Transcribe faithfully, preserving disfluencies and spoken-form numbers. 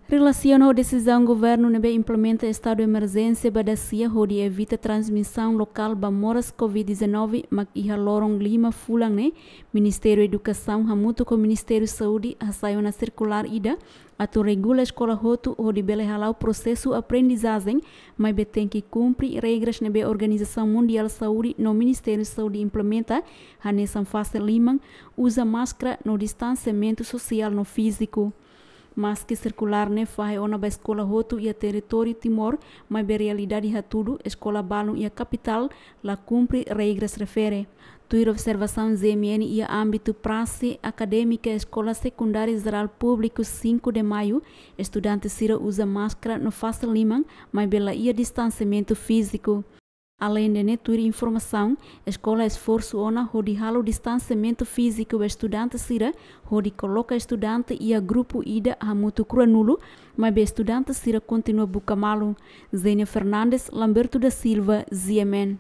Relasiona ho desizaun governu ne'ebé implementa estadu emerjénsia ba dasia hodi evita transmisaun lokál ba moras covid dezanove, mak iha loron lima fulan ne'e, Ministériu Edukasaun hamutuk ho Ministériu Saúde hasai ona sirkulár ida atu regula eskola hotu hodi bele hala'o prosesu aprendizajen, maibé tenke kumpre regras ne'ebé Organizasaun Mundiál Saúde no Ministériu Saúde implementa, hanesan fase liman, uza máskara no distansiamentu sosiál no fíziku. Maske sirkulár ne'e fahe ona ba eskola hotu iha territóriu Timor, maibé realidade hatudu eskola balun iha kapitál la kumpre regras refere. Tuir observasaun G M N iha ámbitu prase akadémika Eskola Sekundária Jerál Públiku cinco de Maio, estudante sira uza máskara no fase liman, maibé la iha distansiamentu fíziku. Aleinde ne'e, tuir informasaun, eskola esforsu ona hodi halo distansiamentu fíziku ba estudante sira, hodi koloka estudante iha grupu ida hamutuk ruanulu, maibé estudante sira kontinua buka malu. Zenia Fernandes, Lamberto da Silva, G M N.